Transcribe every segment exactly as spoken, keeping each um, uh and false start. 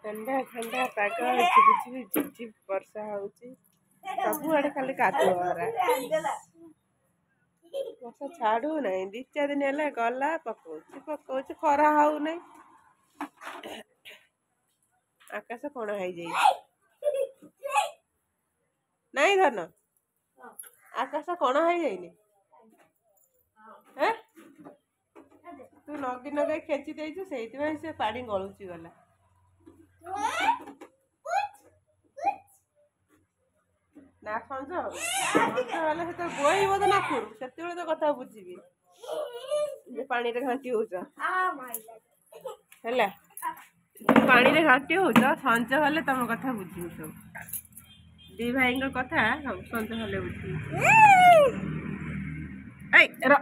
ଥଣ୍ଡା ଥଣ୍ଡା ପାଗ, ଝିପି ଝିପି ଝିପ୍ ଝିପ୍ ବର୍ଷା ହଉଛି। ସବୁଆଡ଼େ ଖାଲି କାଦୁଅ। ବର୍ଷା ଛାଡୁ ନାହିଁ, ଦି ଚାରି ଦିନ ହେଲା ଗଲା ପକଉଛି ପକଉଛି, ଖରା ହଉନାହିଁ। ଆକାଶ କଣା ହେଇଯାଇଛି ନାଇଁ ଧନ? ଆକାଶ କଣା ହେଇଯାଇନି? ତୁ ନଗି ନଗେଇ ଖେଚି ଦେଇଛୁ, ସେଇଥିପାଇଁ ସେ ପାଣି ଗଳୁଛି ଗଲା। ନା, ସଞ୍ଜ ସଞ୍ଜ ହେଲେ ସେତେବେଳେ ବୋହିବ ତ ନାକରୁ, ସେତେବେଳେ ତ କଥା ବୁଝିବି ଯେ ପାଣିରେ ଘାଣ୍ଟି ହଉଛ। ହେଲା, ପାଣିରେ ଘାଣ୍ଟି ହଉଛ, ସଞ୍ଜ ହେଲେ ତମ କଥା ବୁଝିବି ସବୁ। ଦି ଭାଇଙ୍କ କଥା ସଞ୍ଜ ହେଲେ ବୁଝିବି। ଏଇ ର,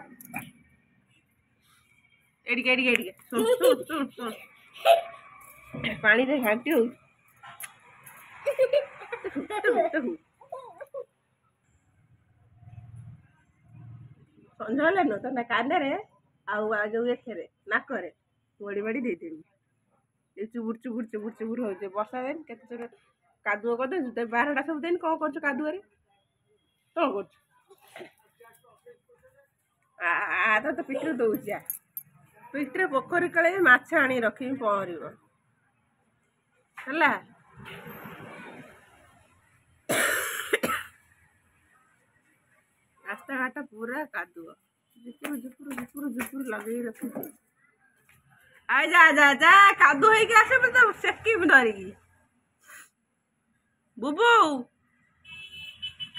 ଏଡ଼ିକେ ଏଡ଼ିକେ ଏଡ଼ିକେ, ଶୁଣ ଶୁଣ ଶୁଣ ଶୁଣ, ପାଣିରେ ଘାଣ୍ଟି ହଉଛି। ସଞ୍ଜ ହେଲେ ନୁହଁ ତ କାନରେ ଆଉ ଯୋଉ ଏଥିରେ ନାକରେ ବଡ଼ି ବାଡ଼ି ଦେଇଦେବି। ଏ ଚୁବୁର ଚୁବୁର ଚୁବୁର ଚୁବୁର ହଉଛି। ବର୍ଷା ଦିନ କେତେ ଜୋର କାଦୁଅ କରିଦେଇଛୁ ତ ବାରଟା ସବୁ ଦିନ। କ'ଣ କରୁଛୁ କାଦୁଅରେ? କ'ଣ କରୁଛୁ? ଆ ତ ପିଠିରେ ଦଉଛି, ଆ ପିଠିରେ। ପୋଖରୀ କାଳେ ମାଛ ଆଣି ରଖିବି, ପହଁରିବ ହେଲା। ରାସ୍ତାଘାଟ ପୁରା କାଦୁଅ, ଝୁପୁରୁ ଝୁପୁରୁ ଝୁପୁରୁ ଝୁପୁରୁ ଲଗେଇ ରଖିଛି। I ଯା ଯା ଯା, କାଦୁଅ ହେଇକି ଆସିବ ତ ସେକିବି ଧରିକି। ବୁବୁ,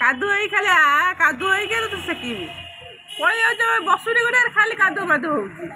କାଦୁଅ ହେଇ ଖାଲି ଆ, କାଦୁଅ ହେଇକି ତ ସେକିବି। ପଳେଇ ଯାଉଛ, ବସୁନି ଗୋଟେ, ଖାଲି କାଦୁଅ ମାଦୁଅ ହଉଛି।